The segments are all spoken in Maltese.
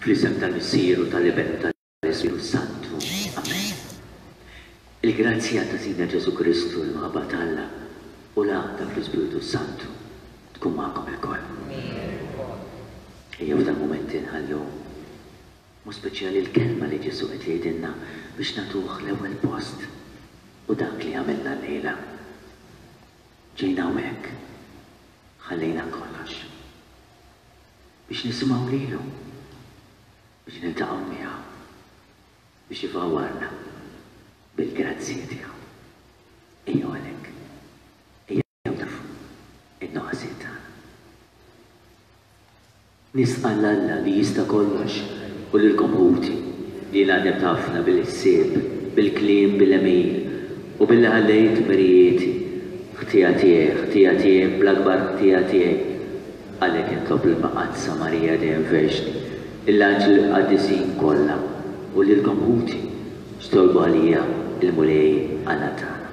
Fl-isem tal-Missier u tal-Iben u tal-Ispirtu Santu. Amen. Il-grazzja ta' Sidna Ġesù Kristu, l-imħabba t'Alla u l-għaqda fl-Ispirtu Santu tkun magħkom ilkoll. Ejjew f'dan mument inħallu mod speċjali l-kelma li Ġesù qed jgħidilna biex nagħtuh l-ewwel post u dak li għamilna llejla. Ġejna hawnhekk, ħallejna kollox biex nisimgħu lilu, biex niltaqgħu miegħu, biex ifawwarna bil-grazzji tiegħu. Ejjew għalhekk, ejjew nagħrfu n-nuqqasijiet tagħna. Nistqarr 'l Alla li jista' kollox u lilkom ħuti, li jiena għaddebt ħafna bil-ħsieb, bil-kliem, bil-għemil, u billi ħallejt dmirijieti. Ħtija tiegħi, ħtija tiegħi, bl-akbar ħtija tiegħi. Għalhekk nitlob lill-Mqaddsa Marija dejjem Verġni, lill-anġli u l-qaddisin kollha, u lilkom ħuti, biex titolbu għalija l-Mulej Alla tagħna.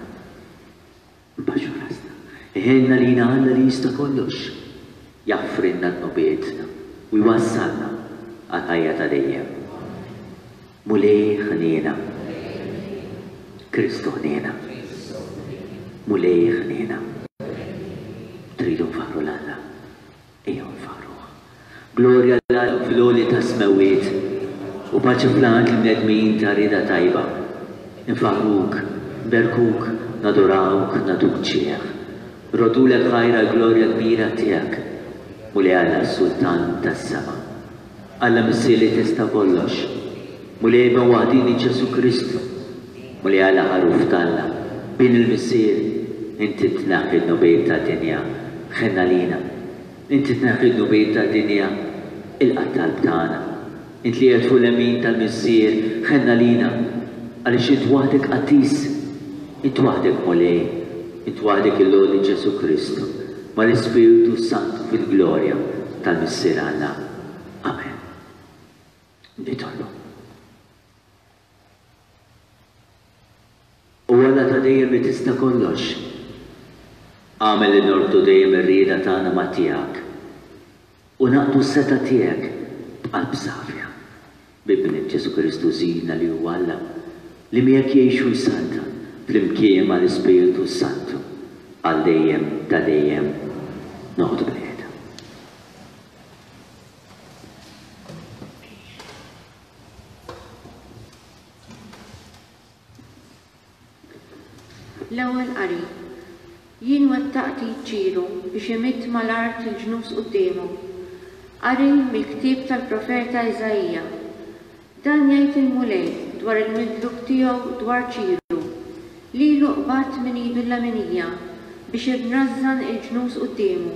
Nbaxxu rasna. Iħenn għalina Alla li jista' kollox, jaħfrilna dnubietna u jwassalna għall-ħajja ta' dejjem. Mulej ħniena. Kristu ħniena. Mulej ħniena. Tridu nfaħħru 'l Alla? Ejjew nfaħħruh. Glorja 'l Alla fl-għoli tas-smewwiet, u paċi fl-art lill-bnedmin ta' rieda tajba. Infaħħruk, nberkuk, nadurawk, nagħtuk ġieħ. Nroddulek ħajr għall-glorja kbira tiegħek, Mulej Alla s-Sultan tas-sema. Alla Missier li tista' kollox, Mulej Iben waħdieni Ġesù Kristu, Mulej Alla Ħaruf t'Alla, Bin il-Missier, inti tneħħi d-dnubiet tad-dinja, ħenn għalina. Inti tneħħi d-dnubiet tad-dinja, ilqa' t-talb tagħna. Int li qiegħed fuq il-lemin tal-Missier, ħenn għalina, għaliex int waħdek qaddis, int waħdek Mulej, int waħdek il-Għoli Ġesù Kristu, mal-Ispirtu s-Santu fil-glorja tal-Missier Alla. Amen. Nitolbu. O Alla ta' dejjem li tista' kollox, agħmel li norbtu dejjem ir-rieda tagħna ma' tiegħek u naqdu s-setgħa tiegħek b'qalb safja. B'Ibnek Ġesù Kristu Sidna li huwa Alla, li miegħek jgħix u jsaltan flimkien mal-Ispirtu s-Santu għal dejjem ta' dejjem. Noqogħdu bilqiegħda. L-Ewwel Qari. Jien wettaqt id Ċiru biex imidd mal-art il-ġnus quddiemu. Qari mill-ktieb tal-profeta Iżaija. Dan jgħid il-Mulej dwar il-midluk tiegħu dwar Ċiru, Lilu qbadt minn idu l-leminija biex inrażżan il-ġnus quddiemu,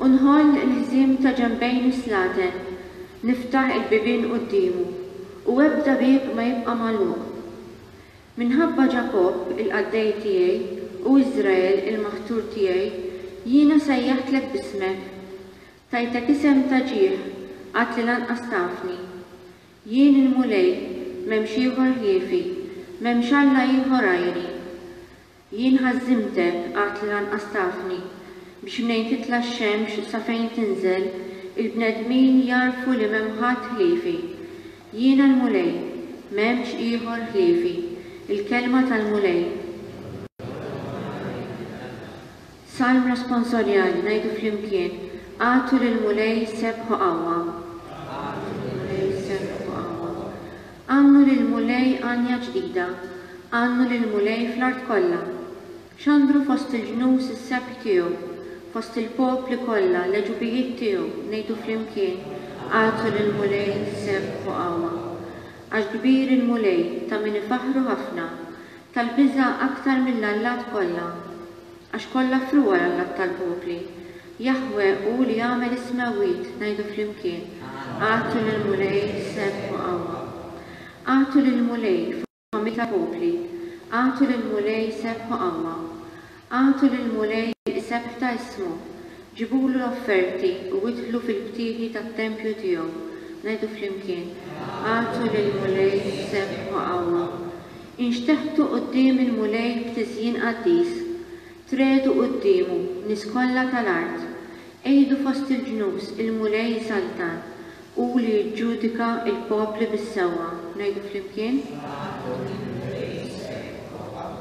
u nħoll il-ħżiem ta' ġenbejn is-slaten, niftaħ il-bibien quddiemu, u ebda bieb ma jibqa' magħluq. Minħabba Ġakobb, il-qaddej tiegħi, u Iżrael, il-maħtur tiegħi, jiena sejjaħtlek b'ismek. Tajtek isem ta' ġieħ, għad li lanqas tafni. Jien il-Mulej, m'hemmx ieħor ħliefi, m'hemmx Alla ieħor għajri. Jien ħażżimtek, għad li lanqas tafni, biex mnejn titla' x-xemx sa fejn tinżel, il-bnedmin jagħrfu li m'hemm ħadd ħliefi. Jiena l-Mulej, m'hemmx ieħor ħliefi. Il-kelma tal-Mulej. Salm responsorjali, ngħidu flimkien, Agħtu lill-Mulej sebħ u qawwa. Agħtu lill-Mulej sebħ u qawwa. Għannu lill-Mulej għanja ġdida, għannu lill-Mulej fl-art kollha. Xandru fost il-ġnus is-sebħ tiegħu, fost il-popli kollha l-għeġubijiet tiegħu, ngħidu flimkien, Agħtu lill-Mulej sebħ u qawwa. Għax kbir il-Mulej, ta' min ifaħħru ħafna, tal-biża' aktar mill-allat kollha. Għax kollha frugħa l-allat tal-popli. Jaħweh hu li għamel is-smewwiet, ngħidu flimkien, Agħtu lill-Mulej sebħ u qawwa. Agħtu lill-Mulej, familji tal-popli, agħtu lill-Mulej sebħ u qawwa. Agħtu lill-Mulej is-sebħ ta' ismu, ġibulu l-offerti u idħlu fil-btieħi tat-tempju tiegħu. Ngħidu flimkien, Agħtu lill-Mulej sebħ u qawwa. Inxteħtu quddiem il-Mulej b'tiżjin qaddis. Tregħdu quddiemu, nies kollha tal-art. Għidu fost il-ġnus, Il-Mulej isaltan. Hu li jiġġudika l-popli bis-sewwa. Ngħidu flimkien. Agħtu lill-Mulej sebħ u qawwa.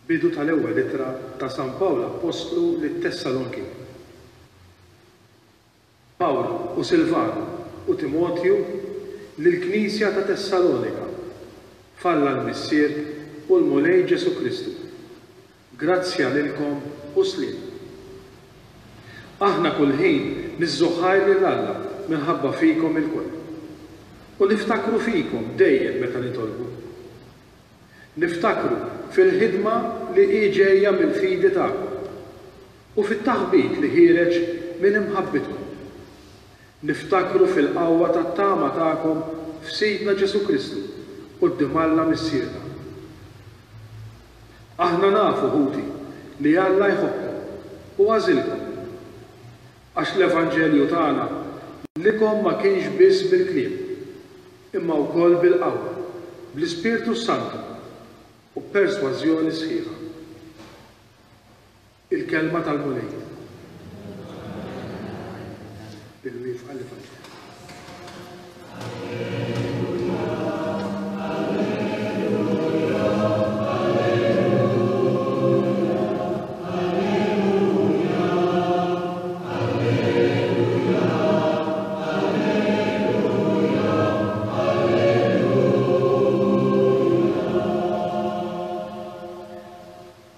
Bidu tal-ewwel ittra ta' San Pawl Appostlu lit-Tessalonkin. Pawlu u Silvanu u Timotju lill-knisja ta' Tessalonika, f'Alla l-Missier u l-Mulej Ġesù Kristu. Grazzja lilkom u sliem. Aħna kull ħin niżżu ħajr lil Alla minħabba fikom ilkoll. U niftakru fikom dejjem meta nitolbu. Niftakru fil-ħidma li hi ġejja mill-fidi tagħkom u fit-taħbit li ħiereġ minn imħabbitkom. Niftakru fil-qawwa tat-tama tagħkom f'Sidna Ġesù Kristu quddiem Alla Missierna. Aħna nafu, ħuti, li Alla jħobbkom u għażilkom. Għax l-evanġelju tagħna lilkom ma kienx biss bil-kliem, imma wkoll bil-qawwa, bl-Ispirtu s-Santu, u b'persważjoni sħiħa. Il-Kelma tal-Mulej. Bil-wieqfa l-Evanġelju.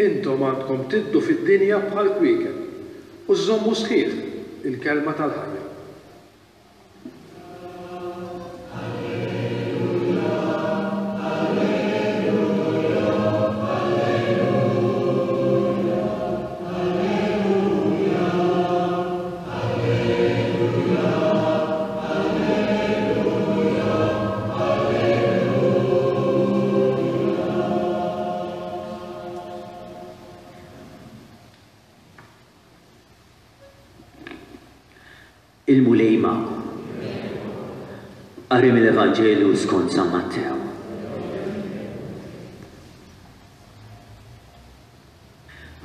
Intom għandkom tiddu fid-dinja bħal kwiekeb u żżommu sħiħ il-kelma tal-ħajja. Il-Mulej magħkom. Qari mill-Evanġelju skont San Mattew.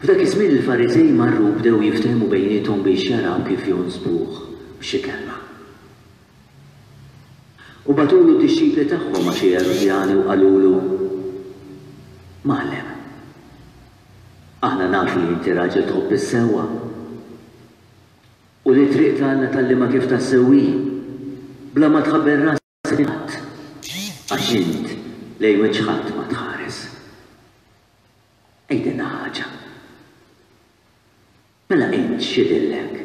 F'dak iż-żmien il-Fariżej marru u bdew jiftehmu bejniethom biex jaraw kif jonsbuh b'xi kelma. U bagħtulu d-dixxipli tagħhom ma' xi Erudjani u qalulu, Mgħallem, aħna nafu li inti raġel tħobb is-sewwa u li t-triq ta' Alla tgħallimha kif tassew hi, bla ma tħabbel rasek minn ħadd, għax int lejn wiċċ ħadd ma tħares. Għidilna ħaġa. Mela int x'jidhirlek?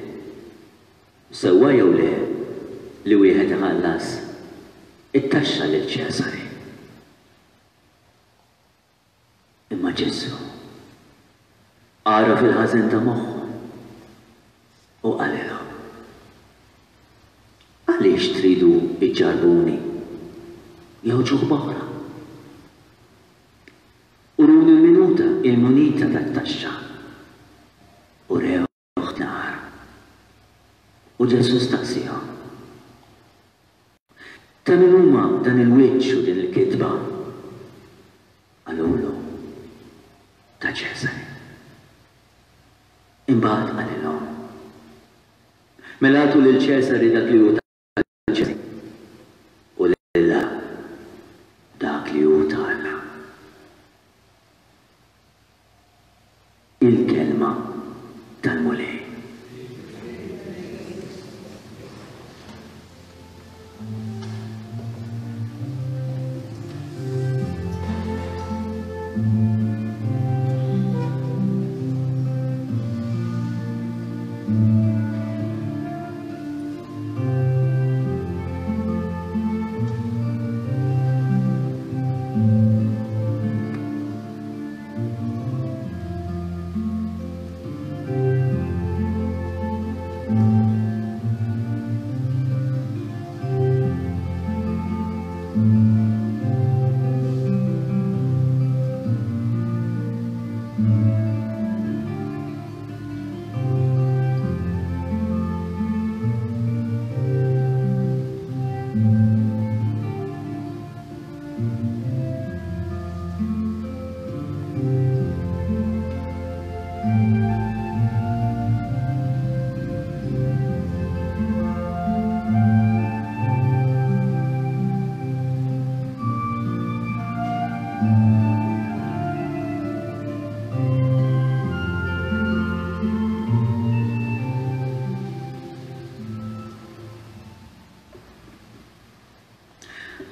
Sewwa jew le li wieħed iħallas it-taxxa lil Ċesari? Imma Ġesù għaraf il-ħażen ta' moħħhom u qalilhom, Għaliex tridu ġġarrbuni jew ġuħ b'oħra? Uruni l-minuta, il-munita tat-taxxa. Urewh nar. U Ġesù staqsiehom, Ta' min huma dan il-wiċċ u din il-kitba? Qalulu, Ta' Ċesari. Imbagħad qalilhom, Mela agħtu lil Ċesari dak li hu ta' Ċesari, u lil Alla dak li hu ta' Alla. Il-Kelma tal-Mulej.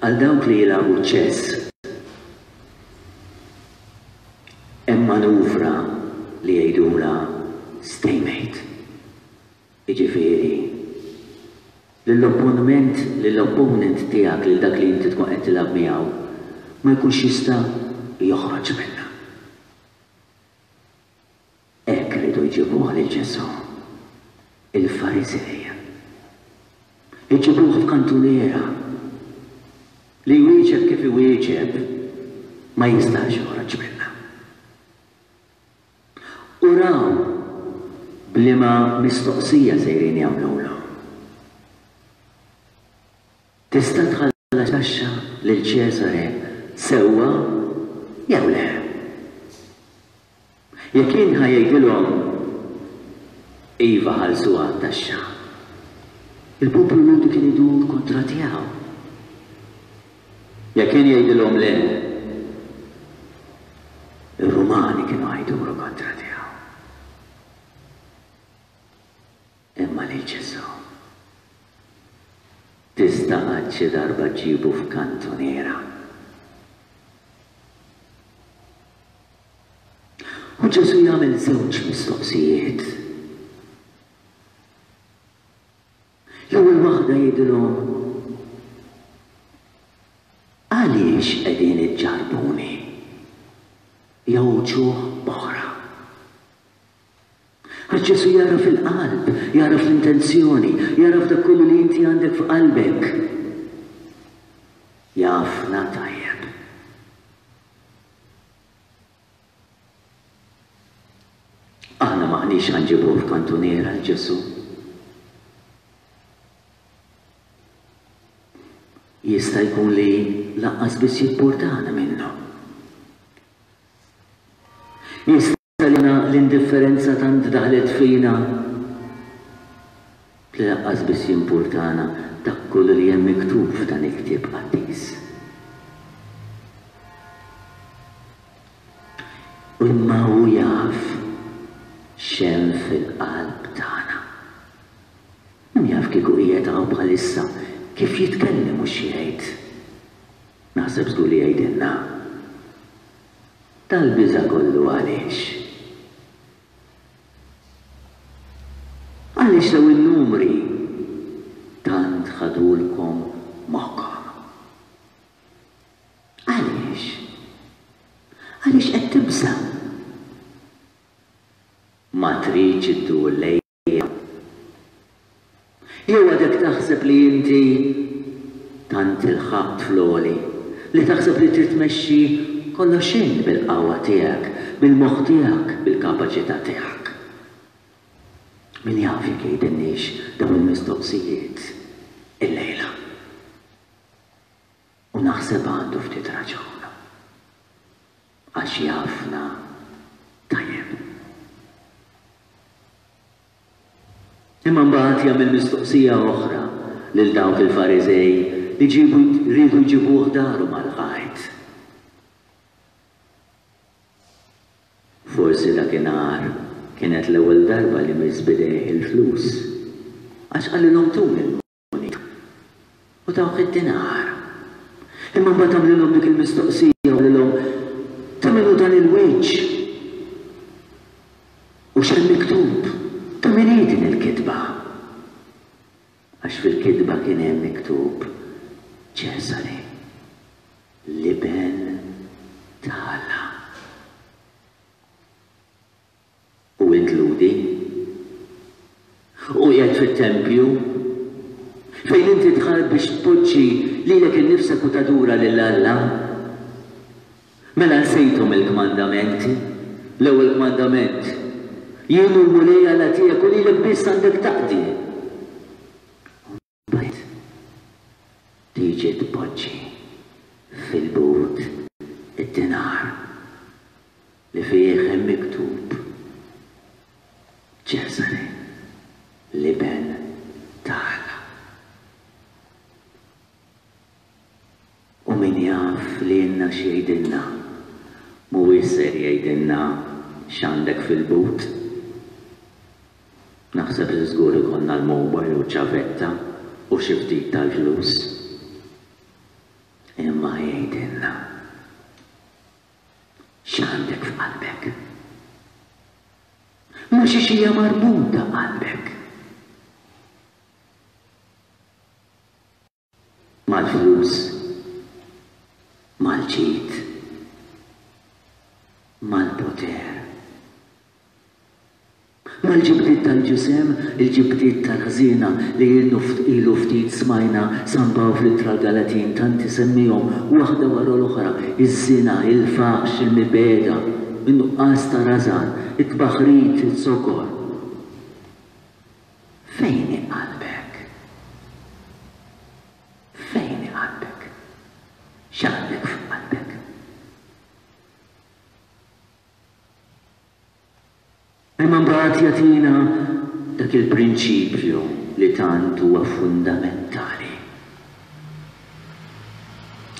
Għal dawk li jilagħbu ċ-ċess, hemm manuvra li jgħidulha stalemate. Jiġifieri, lill-opponment, lill-opponent tiegħek, lil dak li inti tkun qed tilgħab miegħu, ma jkunx jista' joħroġ minnha. Hekk riedu jġibuh lil Ġesù il-Fariżej. Iġibuh f'kantuniera li jwieġeb kif iwieġeb ma jistax joħroġ minnha. U raw b'liema mistoqsija sejrin jagħmlulu. Tista' tħallas taxxa lil Ċesare sewwa jew le? Jekk kien ħa jgħidilhom, Iva ħallsuha t-taxxa, il-poplu Lhudi kien idur kontra tiegħu. Jekk kien jgħidilhom le, ir-Rumani kienu ħa jduru kontra tiegħu. Imma lil Ġesù tista' qatt xi darba ġġibu f'kantuniera. U Ġesù jagħmel żewġ mistoqsijiet. L-ewwel waħda jgħidilhom, Għaliex qegħdin iġġarrbuni? Jew uċuħ oħra. Għax Ġesù jagħraf il-qalb, jagħraf l-intenzjoni, jagħraf dak kollu li inti għandek f'qalbek. Jafna tajjeb. Aħna m'aħniex ħa nġibuh f'kantuniera 'l Ġesù. Jista' jkun li lanqas biss jippurtana minnu. Jista' li l-indifferenza tant daħlet fina li lanqas biss jimpurtana dak kollu li hemm miktub f'dan il-ktieb qaddis. Imma hu jaf x'hemm fil-qalb tagħna. Min jaf kieku qiegħed hawn bħalissa kif jitkellem u x'jgħid. Naħseb żgur li jgħidilna. Dal-biża' kollu għaliex? Għaliex dawn in-numri tant ħadulkom moħħkom? Għaliex? Għaliex qed tibża'? Ma tridx iddur lejja? Jew għadek taħseb li inti tant ilħaqt fl-għoli li taħseb li trid tmexxi kollox int bil-qawwa tiegħek, bil-moħħ tiegħek, bil-kapaċità tiegħek? Min jaf jekk jgħidilniex dawn il-mistoqsijiet illejla. U naħseb għandu ftit raġun. Għax jafna tajjeb. Imma mbagħad jagħmel mistoqsija oħra lil dawk il-Fariżej li ġiebu riedu jġibuh daru mal-ħajt. Forsi dakinhar kienet l-ewwel darba li miss b'idejh il-flus, għax qalilhom tuni l-munita u tawh id-dinar. Imma mbagħad għamlilhom dik il-mistoqsija u qalilhom, Ta' min hu dan il-wiċċ? U x'hemm miktub? Ta' min hi din il-kitba? Għax fil-kitba kien hemm miktub Ċesari, l-iben ta' Alla. U int Lhudi? U qiegħed fit-tempju, fejn inti dħalt biex tpoġġi lilek innifsek u tadura lil Alla? Mela nsejthom il-kmandamenti? L-ewwel kmandament, Jien hu l-Mulej Alla tiegħek u lilek biss għandek taqdi. U mbagħad tiġi tpoġġi fil-but id-dinar. Li fih hemm miktub, Ċesare, l-Iben ta' Alla. U min jaf lilna x'jgħidilna, mhuwiex ser jgħidilna x'għandek fil-but. Naħseb li żgur ikollna l-mobile u ċ-ċavetta u xi ftit tal-flus. Imma jgħidilna x'għandek f'qalbek. Ma' xiex hija marbuta qalbek. Mal-flus, mal-ġid, mal-poter, mal-ġibdiet tal-ġisem, il-ġibdiet tal-ħżiena li ilu ftit smajna San Pawl fl-Ittra għall-Galatin tant isemmihom waħda wara l-oħra, iż-żina, il-faħx, il-mibegħda, in-nuqqas ta' rażan, it-tbaħrid, iz-zokor. Fejn hi qalbek? Fejn hi qalbek? X'għandek f'qalbek? Imma mbagħad jagħtina dak il-prinċipju li tant huwa fundamentali.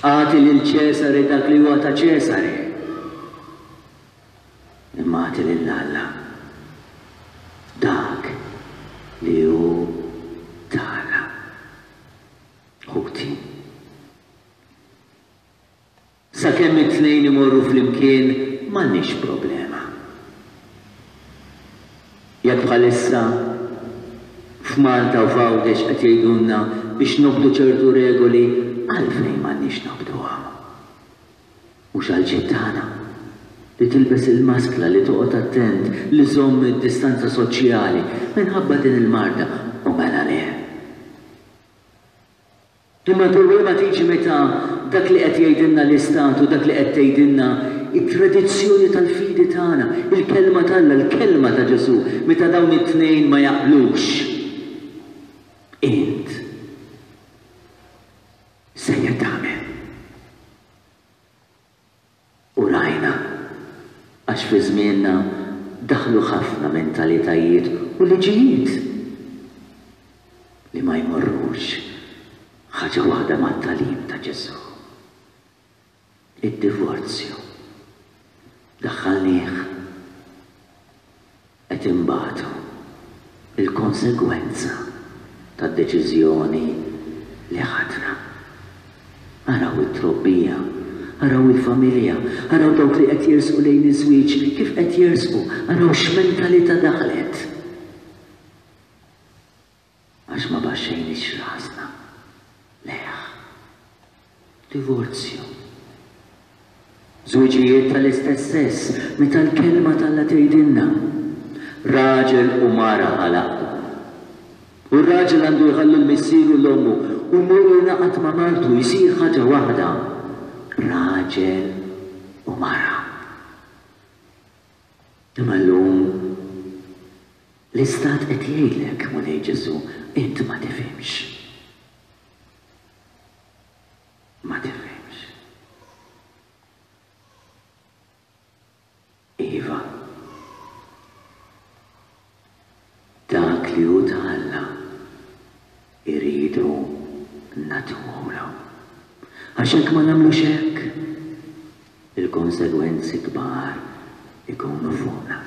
Agħti lil Ċesare dak li huwa ta' Ċesare. Imma agħti lil Alla dak li hu ta' Alla. Ħuti, sakemm it-tnejn imorru flimkien m'għandniex problema. Jekk bħalissa f'Malta u f'Għawdex qed jgħidulna biex nobdu ċertu regoli, għalfejn m'għandniex nobduhom? Mhux għall-ġid tagħna? Li tilbes il-maskla, li toqgħod attent, li żżomm id-distanza soċjali minħabba din il-marda, u mela le? Imma l-problema tiġi meta dak li qed jgħidilna l-Istat u dak li qed tgħidilna t-tradizzjoni tal-fidi tagħna, il-Kelma t'Alla, il-Kelma ta' Ġesù, meta dawn it-tnejn ma jaqblux. Int sejjer tagħmel? U rajna, għax fi żmienna daħlu ħafna mentalitajiet u liġijiet li ma jmorrux ħaġa waħda mat-tagħlim ta' Ġesù. Id-divorzju daħħalnieh qed inbatu l-konsegwenza tad-deċiżjoni li ħadna. Araw it-trobbija, araw il-familja, araw dawk li qed jersqu lejn iż-żwieġ kif qed jersqu, araw x'mentalità daħlet. Għax ma baxxejniex rasna lejh. Divorzju. Żwiġijiet tal-istess sess, meta l-Kelma t'Alla tgħidilna, Raġel u mara ħalaqthom. U r-raġel għandu jħalli 'l missieru u 'l ommu u jmur jingħaqad ma' martu, jsir ħaġa waħda. Raġel u mara. Imma llum l-istat qed jgħidlek, Mulej Ġesù, int ma tifhimx. Ma tifhimx. Iva. Dak li hu ta' Alla irridu nagħtuhulu. Għax jekk ma nagħmlux hekk, il-konsegwenzi kbar ikunu fuqna.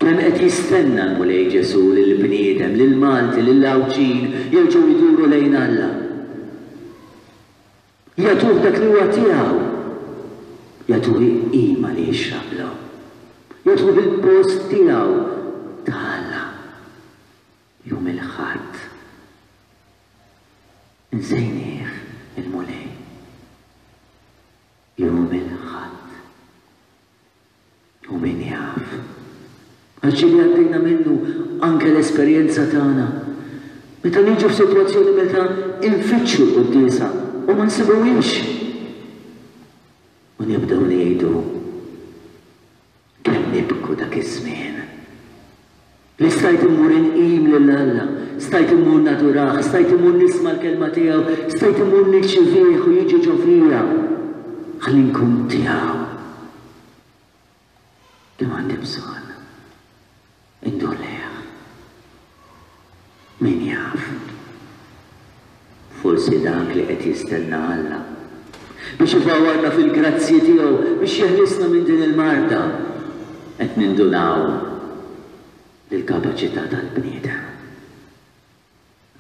Kemm qed jistenna l-Mulej Ġesù lill-bniedem, lill-Malti, lill-Għawdxin jerġgħu jduru lejn Alla. Jagħtuh dak li huwa tiegħu. Jagħtuh il-qima li jixraqlu. Jagħtuh il-post tiegħu ta' Alla. Jum il-Ħadd. Insejnieh il-Mulej. Jum il-Ħadd. U min jaf. Għax ġieli għaddejna minnu anke l-esperjenza tagħna. Meta niġu f'sitwazzjoni meta nfittxu l-quddiesa u ma nsibuhiex. U nibdew ngħidu kemm nibku dak iż-żmien. Li stajt immur inqim lil Alla, stajt immur nadurah, stajt immur nisma' l-kelma tiegħu, stajt immur nirċivih u jiġi ġo fija. Ħalli nkun tiegħu. Kemm għandi bżonn indur lejh. Min jaf? Forsi dak li qed jistenna Alla biex ifawwarna fil-grazzji tiegħu biex jeħlisna minn din il-marda. Qed nindunaw li l-kapaċità tal-bniedem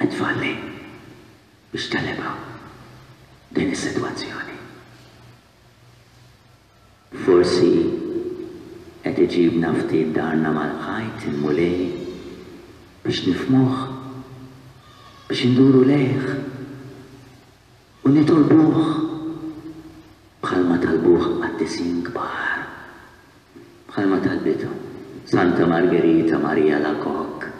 qed tfalli biex tegħlibha din is-sitwazzjoni. Forsi qed iġibna ftit darna mal-ħajt il-Mulej biex nifhmuh, biex induru lejh u nitolbuh bħalma talbuh qaddisin kbar. bħalma talbitu Santa Margherita Maria Alacoque,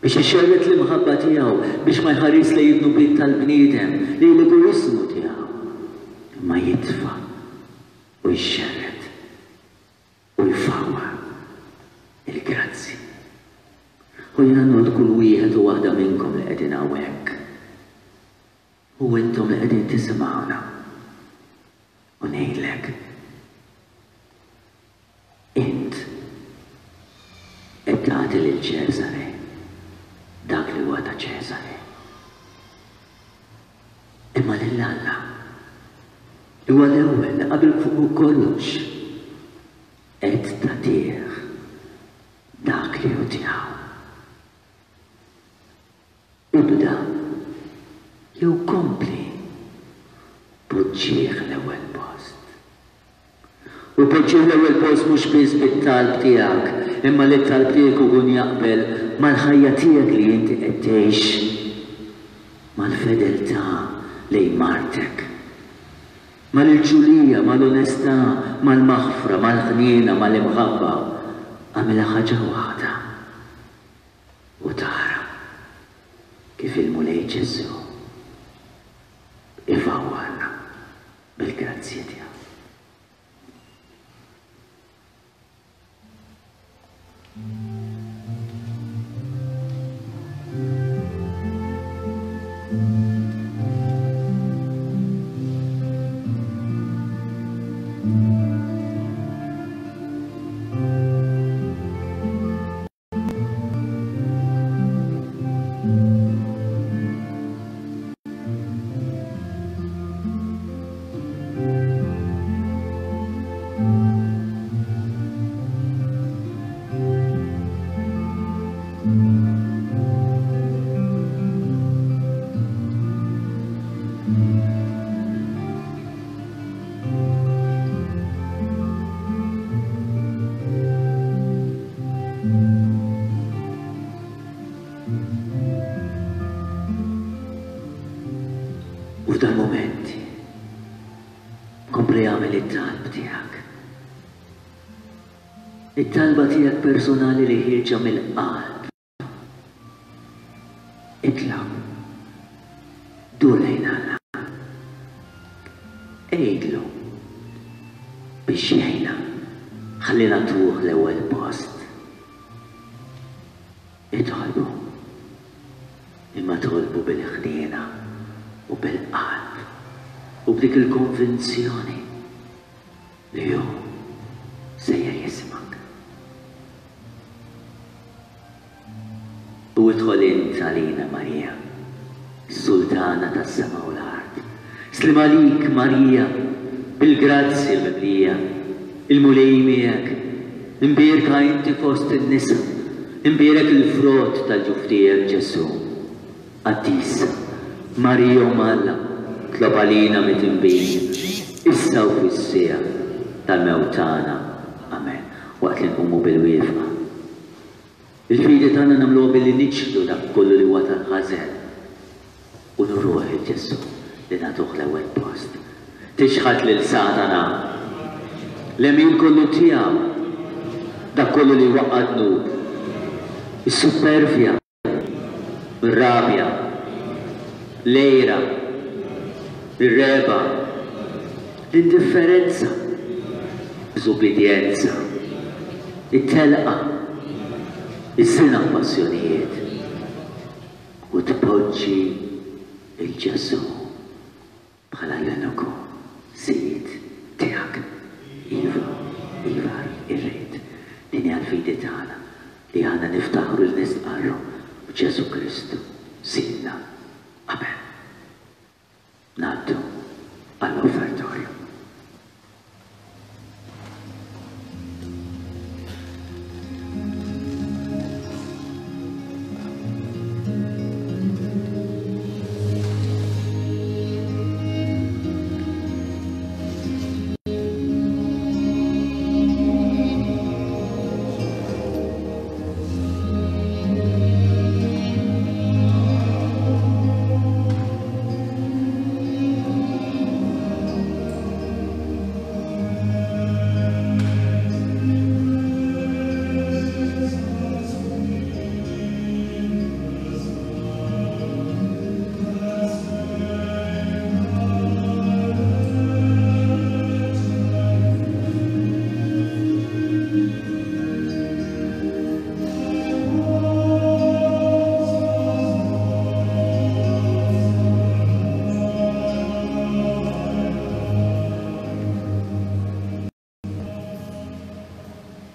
biex ixerred l-imħabba tiegħu, biex ma jħaris lejn id-dnubiet tal-bniedem, lejn l-egoiżmu tiegħu, imma jitfa' u jxerred u jfawwar il-grazzji. U jiena ngħodd kull wieħed u waħda minnkom li qegħdin hawnhekk, u intom li qegħdin tisimgħuna, u ngħidlek, int qed tagħti lil Ċesare dak li huwa ta' Ċesare. Imma lil Alla, li huwa l-ewwel li qabel fuq kollox, qed tagħtih dak li hu tiegħu. Ibda, jew kompli, poġġih l-ewwel post. U poġġih l-ewwel post mhux biss bit-talb tiegħek, imma li t-talb tiegħek ikun jaqbel mal-ħajja tiegħek li inti qed tgħix, mal-fedeltà lejn martek, mal-irġulija, mal-onestà, mal-maħfra, mal-ħniena, mal-imħabba. Agħmilha ħaġa waħda. U tara kif il-Mulej Ġesù ifawwarna bil-grazzji tiegħu. U f'dal-mument, kompli agħmel it-talb tiegħek. It-talba tiegħek personali li ħierġa mill-qalb. Itlob. Dur lejn Alla. Għidlu biex jgħinna ħalli nagħtuh l-ewwel post. Itolbu. Imma tolbu bil-ħniena u bil-qalb u b'dik il-konvinzjoni li hu sejjer jismgħek. U idħol int għalina, Marija, Sultana tas-sema u l-art. Sliem għalik, Marija, bil-grazzja mimlija, il-Mulej miegħek. Imbierka inti fost in-nisa, imbierek il-frott tal-ġuf tiegħek, Ġesù. Qaddisa, Marija Omm Alla, tlob għalina midinbin, issa u fis-siegħa tal-mewt tagħna. Amen. Waqt li nqumu bil-wieqfa. Il-fidi tagħna nagħmluha billi niċħdu dak kollu li huwa tal-ħażen u nuruh lil Ġesù li nagħtuh l-ewwel post. Tiċħad lil Satana, l-għemil kollu tiegħu, dak kollu li jwaqqa' d-dnub, is-suppervja, ir-rabja, l-għira, ir-regħba, l-indifferenza, diżubbidjenza, it-telqa, iż-żina u passjonijiet, u tpoġġi 'l Ġesù bħala l-uniku Sid. tal-fidi tagħna li aħna niftaħru li nistqarru b'Ġesù Kristu Sidna. Amen. Ngħaddu għall-offertorju.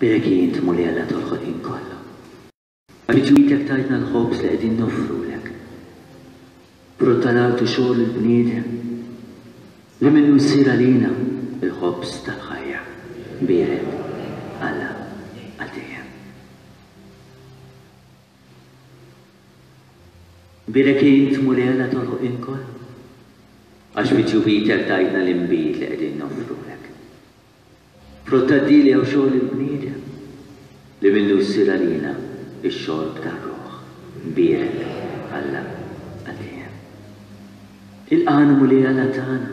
Bierek int, Mulej Alla tal-ħolqien kollu. Għax bi ġwidek tajtna l-ħobż li qegħdin noffrulek. Frott tal-art u xogħol il-bniedem, li minnu jsir għalina l-ħobż tal-ħajja. Bierek Alla għal dejjem. Bierek int, Mulej Alla tal-ħolqien kollu, għax bi ġwidek tajtna l-inbid li qegħdin noffrulek. Frott tad-dili jew xogħol il-bniedem, li minnu jsir għalina x-xorb tar-ruħ. Bierek Alla għal dejjem. Ilqagħna Mulej Alla tagħna,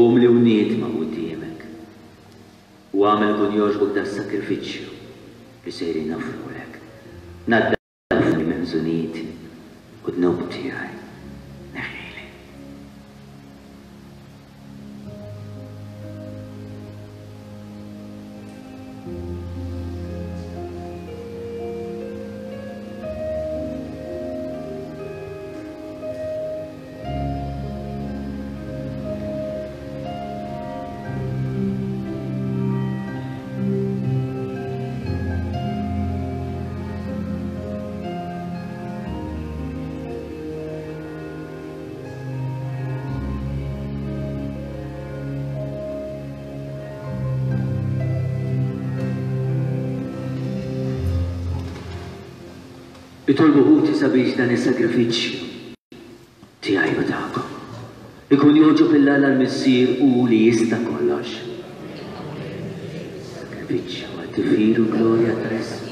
umli u niedma quddiemek, u agħmel ikun jogħġbok das-sagrifiċċju li sejrin noffrulek. Naddafni minn ħżuniti u d-dnub tiegħi neħħili. Itolbu ħuti sabiex dan is-sagrifiċċju tiegħi u tagħkom ikun jogħġob 'il Alla l-Missier hu li jista' kollox. Sagrifiċċju għat-tifħir u glorja ta' ismu.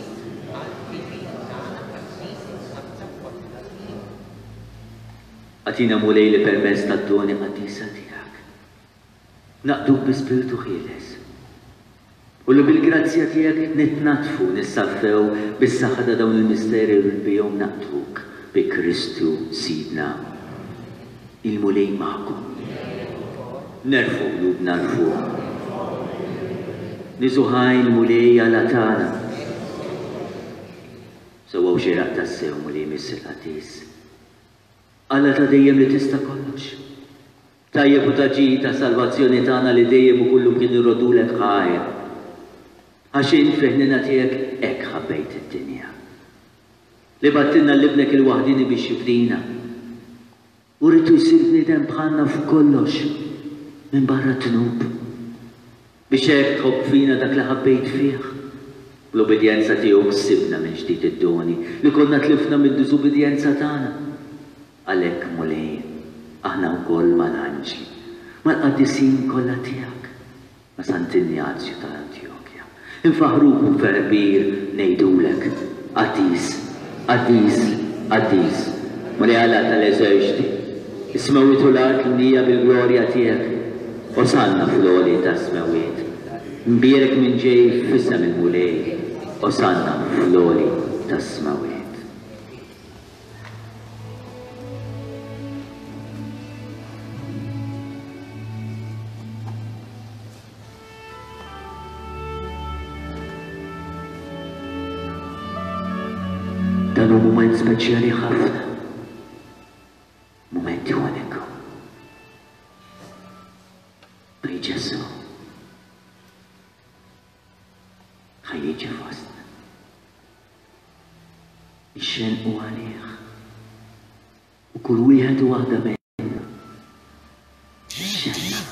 Agħtina Mulej li permezz tad-doni qaddisa tiegħek naqduk bi spirtu ħieles u li bil-grazzja tiegħek nitnaddfu u nissaffew bis-saħħa ta' dawn il-misteri li bihom naqduk bi Kristu Sidna. Il-Mulej magħkom. Nerfgħu qlubna 'l fuq. Niżu ħaj il-Mulej Alla tagħna. Sewwa u xieraq tassew, Mulej Missier Qaddis. Alla ta' dejjem li tista' kollox. Tajjeb u ta' ġid għas-salvazzjoni tagħna li dejjem u kullumkien irroddulek ħajr. Għax int fil-ħniena tiegħek hekk ħabbejt id-dinja. Li bgħattilna 'l Ibnek il-waħdieni biex jifdina. U ridtu jsir bniedem bħalna f'kollox, minbarra d-dnub. Biex hekk tħobb fina dak li ħabbejt fih. Bl-ubbidjenza tiegħu ksibna mill-ġdid id-doni li konna tlifna mid-diżubbidjenza tagħna. Għalhekk, Mulej, aħna wkoll mal-anġli, mal-qaddisin kollha tiegħek, ma' Sant'Injazju ta' Antjokja, infaħħruk u b'ferħ kbir ngħidulek, Qaddis, qaddis, qaddis, Mulej Alla tal-eżerċti, is-smewwiet u l-art mimlija bil-glorja tiegħek. Osanna fl-għoli tas-smewwiet. Mbierek min ġej f'isem il-Mulej, Osanna fl-għoli tas-smewwiet. Dan hu mument speċjali ħafna. Mument uniku. Bej Ġesù ħa. Ħalli jiġi fostna. Ixxenqu għalih. U kull wieħed u waħda minna. Ixxennaq.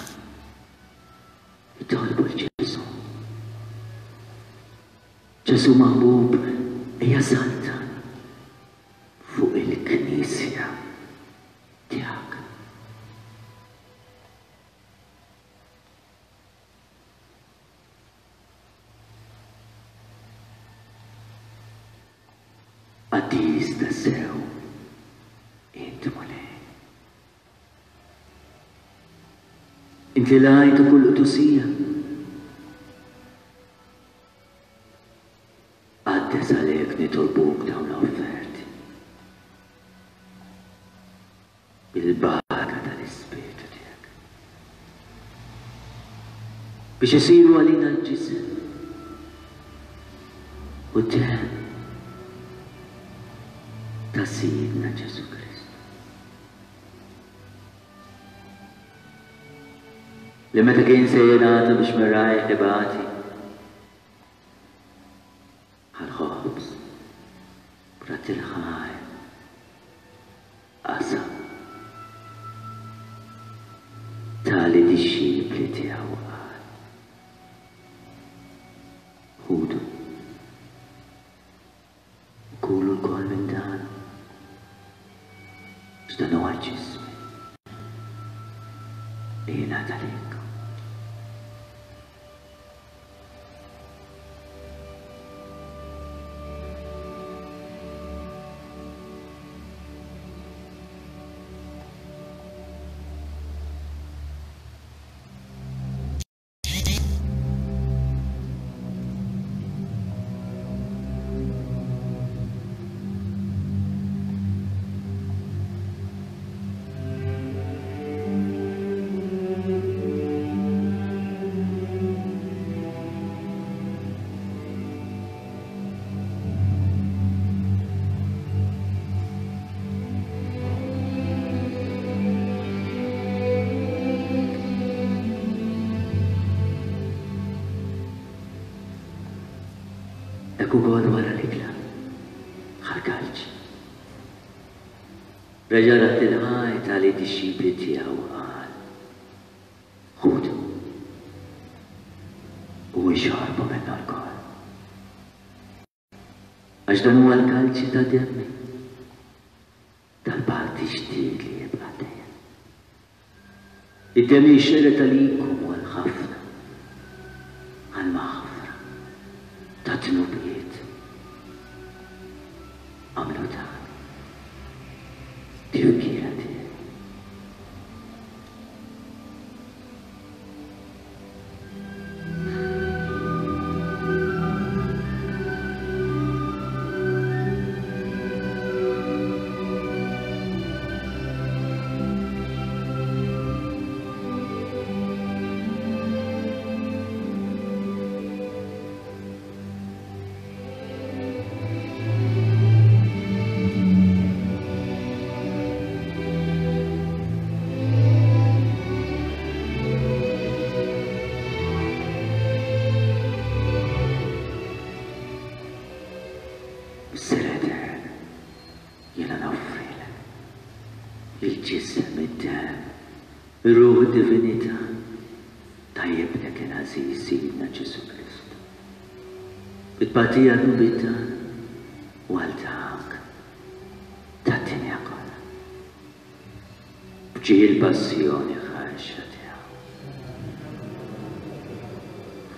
Itolbu 'l Ġesù. Ġesù maħbub, ejja saltan fuq il-Knisja tiegħek. Qaddis tassew int Mulej. Int li lajt u kull qdusija. Qaddes għalhekk nitolbuk dawn l-offerti. Bil-barka tal-Ispirtu tiegħek. Biex isiru għalina l-ġisem u d-demm ta' Sidna Ġesù Kristu. Li meta kien se jingħata biex mir-rajh ibati, Ħall-ħobż, b'radd il-ħajr, qasam. Ta lid-dixxipli tiegħu u qal, Ħudu u kulu lkoll minn dan, għax dan huwa ġismi li jingħata lilkom. Hekk ukoll wara l-ikla, ħa l-kalċ. Reġa' radd il-ħajt għal id-dixxipli tiegħu u qal, Ħudu u ixorbu minnu lkoll. Għax dan huwa l-kalċi ta' demmi, tal-patt ġdid li jibqa' dejjem. Id-demm li jxerred għalikom u għal ħafna, għall-maħfra tad-dnubiet. Agħmlu dan tifkira tiegħi. Missier Etern, jiena noffrilek il-ġisem, id-demm, ir-ruħ u d-divinità ta' Ibnek il-għażiż Sidna Ġesù Kristu. Bi tbatija dnubiet tagħna u għal dak tad-dinja kollha. B'ġieħ il-passjoni ħarxa tiegħu.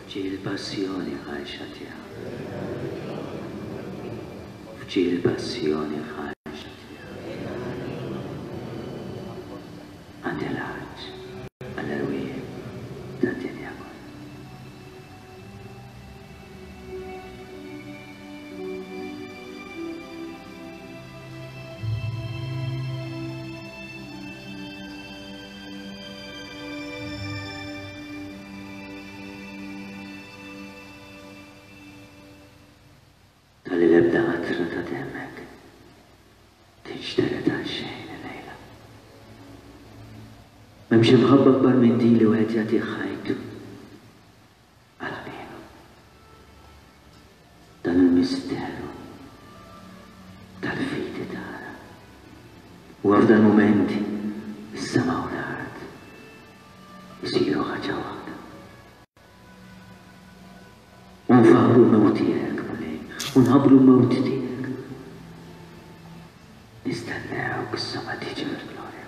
F'ġieħ il-passjoni ħarxa tiegħu. F'ġieħ il-passjoni ħarxa tiegħu. Għandi l-għatx għall-erwieħ tad-dinja kollha. Talli l-ebda qatra ta' demmek tinxtered għal xejn illejla. M'hemmx imħabba akbar minn din li wieħed jagħti ħajtu għal ħbiebu. Il-misteru tal-fidi tagħna. U f'dal-mument is-sema u l-art isiru ħaġa waħda. U nfaħħru l-mewt tiegħek, Mulej, u nħabbru l-mewt tiegħek. Nistennewk sa ma tiġi fil-glorja.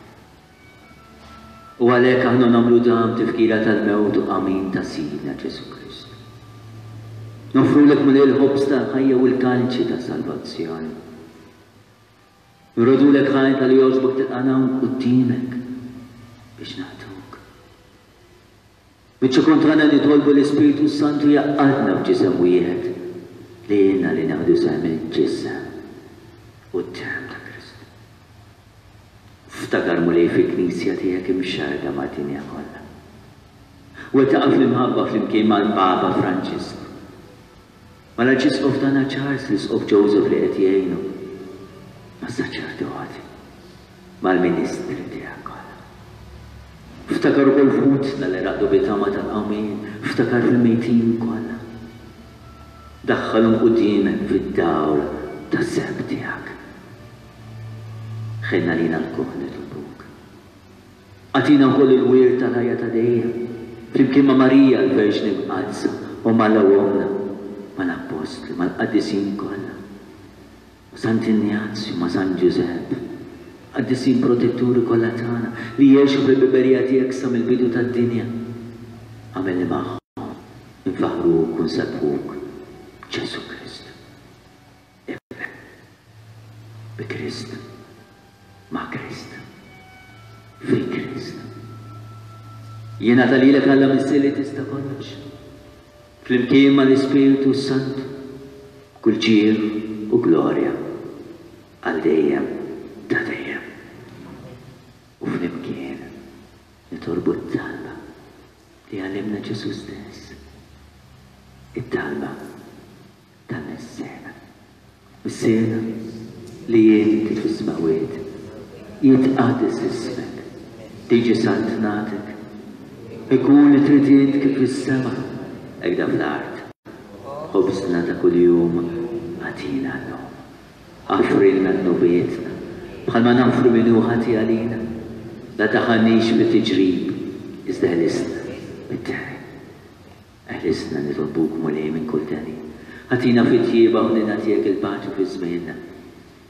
U għalhekk aħna nagħmlu dan b'tifkira tal-mewt u qamim ta' Sidna Ġesù Kristu. Noffrulek Mulej il-ħobż tal-ħajja u l-kalċi tas-salvazzjoni. Nrodulek ħajr talli jogħġbok tilqagħna hawn quddiemek biex naqduk. Biċ-ċokon tagħna nitolbu l-Ispirtu s-Santu jgħaqqadna f'ġisem wieħed li għinna li nieħdu sehem il-ġisem u d-demm ta' Kristu. Ftakar Mulej fil-Knisja tiegħek imxerrda mad-dinja kollha. Wettaqha fl-imħabba flimkien mal-Papa Franġisku, mal-Arċisqof tagħna Charles, l-Isqof Joseph li qed jgħinu, mas-saċerdoti. mal-ministri tiegħek kollha. Ftakar ukoll f'ħutna li raqdu bi tama tal-qawmien, ftakar fil-mejtin kollha. Daħħalhom quddiemek fid-dawl tas-sebħ tiegħek. Ħenn għalina lkoll nitolbuk. Agħtina wkoll il-wirt tal-ħajja ta' dejjem, flimkien ma' Marija l-Verġni Mqaddsa u m'Alla u Ommna, mal-Appostli, mal-qaddisin kollha. Sant'Injazju ma' San Ġużepp, qaddisin protetturi kollha tagħna li għexu fil-biberija tiegħek sa mill-bidu tad-dinja, agħmel li magħhom infaħħruk u nsebbħuk b'Ġesù Kristu, Ibnek. Bi Kristu, ma' Kristu, fi Kristu. Jingħata lilek Alla Missier li tista' kollox. Flimkien mal-Ispirtu s-Santu, b'kull ġieħ u glorja, għal dejjem ta' dejjem. U flimkien nitolbu t-talba li għallimna Ġesù stess, it-talba tal-Missierna. Missierna li inti fis-smewwiet, jitqaddes ismek, tiġi saltnatek, ikun li trid int kif fis-sema, hekk fl-art. Ħobżna ta' kuljum agħtina llum. Aħfrilna dnubietna, bħalma naħfru min hu ħati għalina. La daħħalniex fit-tiġrib, iżda ħlisna mid-deni. Eħlisna nitolbuk, Mulej, minn kull deni. Agħtina fit-tjieba u ħniena tiegħek il-paċi fi żmienna,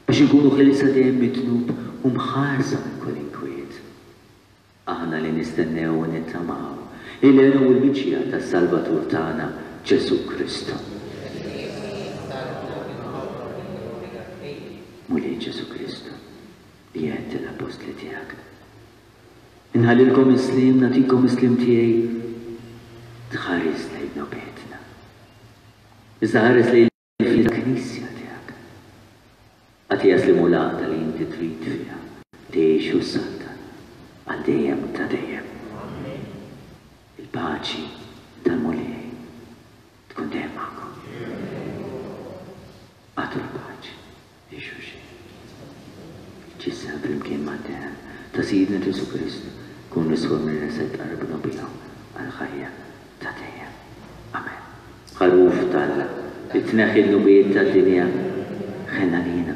biex inkunu ħielsa dejjem mid-dnub u mħarsa minn kull inkwiet. Aħna li nistennew u nittamaw il-hena u l-miġja tas-Salvatur tagħna, Ġesù Kristu. Mulej Ġesù Kristu, li għedt lill-appostli tiegħek, Inħallilkom is-sliem, nagħtikom is-sliem tiegħi. Tħares lejn dnubietna. Iżda ħares lejn il-fidi tal-Knisja tiegħek. Agħtiha sliem u l-għaqda li inti trid fiha tgħix u ssaltan għal dejjem ta' dejjem. Il-paċi tal-Mulej tkun dejjem magħkom. Agħtu l-paċi. Lil xulxin. Ġisem flimkien mad-demm ta' Sidna Ġesù Kristu jkun niswa minna se tqarbnu bihom għall-ħajja ta' dejjem. Amen. Ħaruf t'Alla, li tneħħi d-dnubiet tad-dinja, ħenn għalina.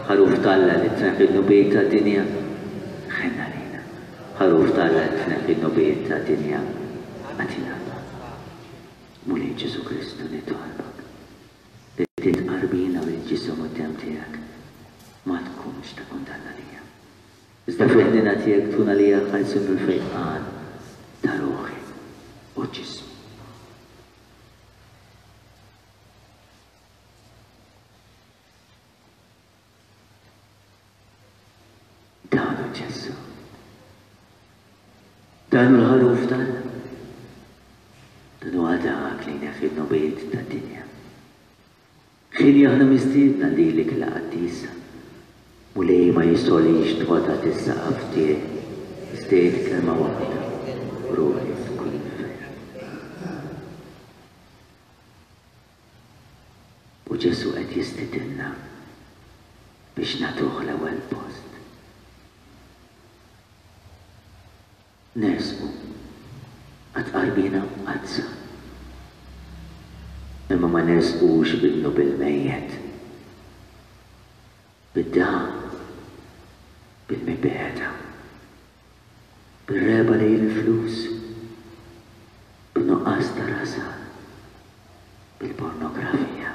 Ħaruf t'Alla, li tneħħi d-dnubiet tad-dinja, ħenn għalina. Ħaruf t'Alla, li tneħħi d-dnubiet tad-dinja, agħtina l-barka. Mulej Ġesù Kristu nitolbok Li titqarbina bil-ġisem u d-demm tiegħek ma tkunx ta' kundanna għalija. Iżda fil-ħniena tiegħek tkun għalija l-ħelsien u l-fejqan ta' ruħi u ġismi. Dan hu Ġesù. Dan hu l-ħaruf t'Alla. Dan huwa dak li jneħħi d-dnubiet tad-dinja. Ħini aħna mistiedna lil l-ikla qaddisa. Mulej ma jistgħolix tqgħod taħt is-saqaf tiegħi, iżda għid kelma waħda u ruħi tkun mfejqa. U Ġesù qed jistidinna biex nagħtuh l-ewwel post. Nersqu għat-tqarbina mqaddsa. Imma ma nersqux bid-dnub il-mejjet, bid-dagħa, bil-mibegħda, bir-regħba lejn il-flus, bin-nuqqas ta' rażan, bil-pornografija.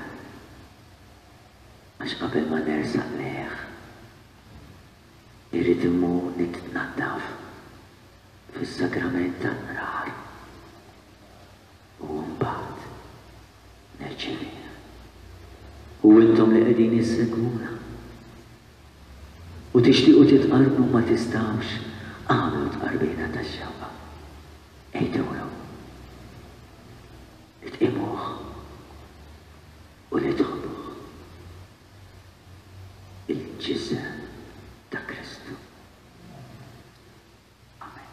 Għax qabel ma nersaq lejh, irrid immur nitnaddaf fis-sagrament tal-qrar u mbagħad nirċevih. U intom li qegħdin issegwuna u tixtiequ titqarbnu ma tistgħux, agħmlu tqarbina tax-xewqa. Għidulu li tqimuh u li tħobbuh. Il-ġisem ta' Kristu. Amen.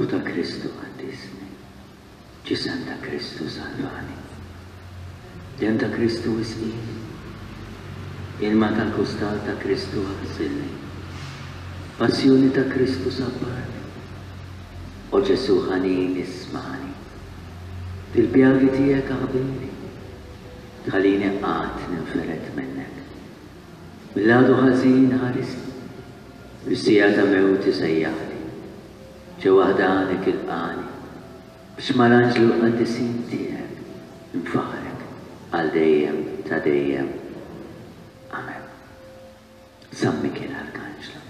Ruħ ta' Kristu qaddisni. Ġisem ta' Kristu salvani. Demm ta' Kristu isqini. Ilma tal-kustal ta' Kristu aħsilni. Passjoni ta' Kristu sabbarni. O Ġesù ħanin ismagħni. Fil-pjagi tiegħek aħbini. Tħallini qatt ninfered minnek. Mill-għadu ħażin ħarisni. Fis-siegħa ta' mewti sejjaħli. Ġewwa ħdanek ilqagħni. Biex mal-anġli u l-qaddisin tiegħek infaħħrek għal dejjem ta' dejjem. Amen. San Mikiel Arkanġlu,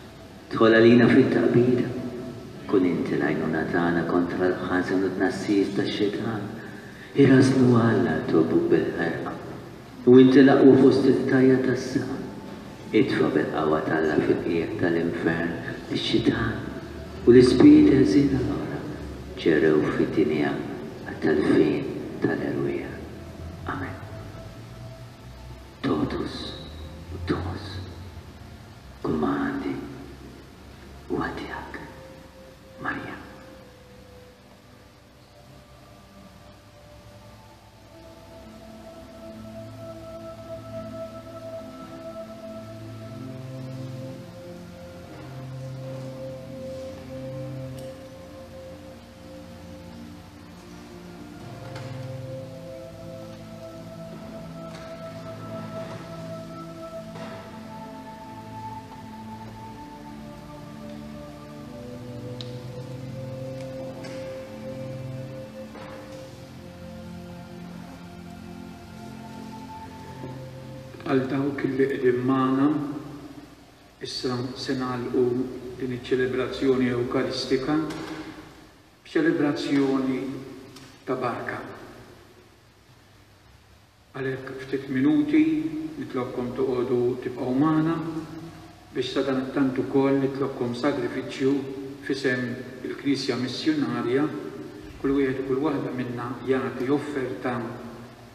dħol għalina fit-taqbida. Kun inti l-għajnuna tagħna kontra l-ħażen u t-tnassis tax-xitan. Irażżnu Alla nitolbuk bil-ħerqa. U inti l-aqwa fost il-qtajja' tas-sema. Itfa' bil-qawwa t'Alla fil-qiegħ tal-infern lix-xitan u l-ispiriti ħżiena l-oħra ġerew fid-dinja għat-telfien tal-erwieħ. Amen. Totus tuus. Kulma għandi huwa tiegħek, Marija. Għal dawk li qegħdin magħna, issa se nagħlqu din iċ-ċelebrazzjoni Ewkaristika b'ċelebrazzjoni ta' barka. Għalhekk ftit minuti nitlobkom toqogħdu tibqgħu magħna biex sadanittant ukoll nitlobkom sagrifiċċju f'isem il-Knisja Missjunarja, kull wieħed u kull waħda minna jagħti offerta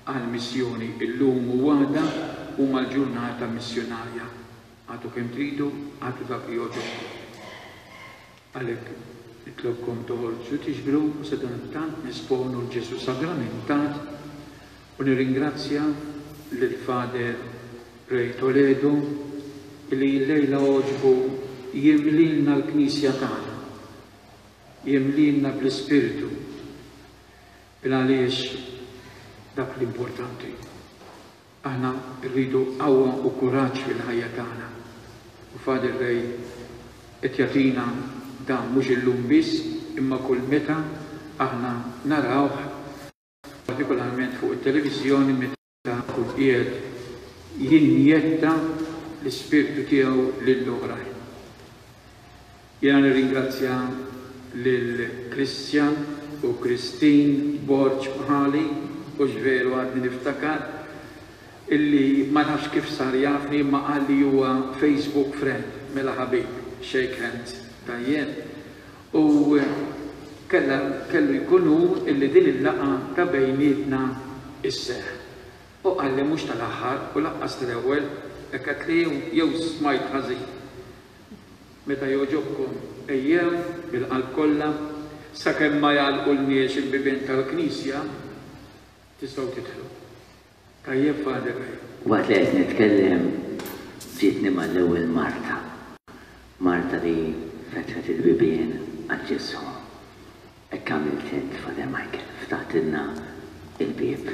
għall-missjoni. Illum u għada huma l-ġurnata missjunarja. Agħtu kemm tridu, agħtu dak li jogħġobkom. Għalhekk nitlobkom toħorġu tiġbru u sadanittant nesponu 'l Ġesù Sagramentat u nirringrazzja lil Father Ray Toledo li llejla għoġbu jimlilna l-Knisja tagħna, jimlilna bl-Ispirtu, il-għaliex dak l-importanti. Aħna rridu qawwa u kuraġġ fil-ħajja tagħna. U Father Ray qed jagħtina dan mhux illum biss imma kull meta aħna narawh, partikolarment fuq it-televiżjoni meta jkun qiegħed jinjetta l-ispirtu tiegħu lill-oħrajn. Jiena nirringrazzja lil Christian u Christine Borg bħali, hux veru għadni niftakar, illi ma nafx kif sar jafni imma qal li huwa Facebook friend, mela ħabib, shake hands, tajjeb. U kellha kellu jkun hu illi din il-laqgħa ta' bejnietna sseħħ. U qalli mhux tal-aħħar u lanqas tal-ewwel, hekk għedtli jew smajt ħażin. Meta jogħġobkom ejjew bil-qalb kollha, sakemm ma jagħlqulniex il-bibien tal-knisja, tistgħu tidħlu. Tajjeb Father Ray? Waqt li qed nitkellem ġietni mal-ewwel Marta. Marta li fetħet il-bibien għal Ġesù. Hekk għamilt int, Father Michael, ftaħtilna l-bieb.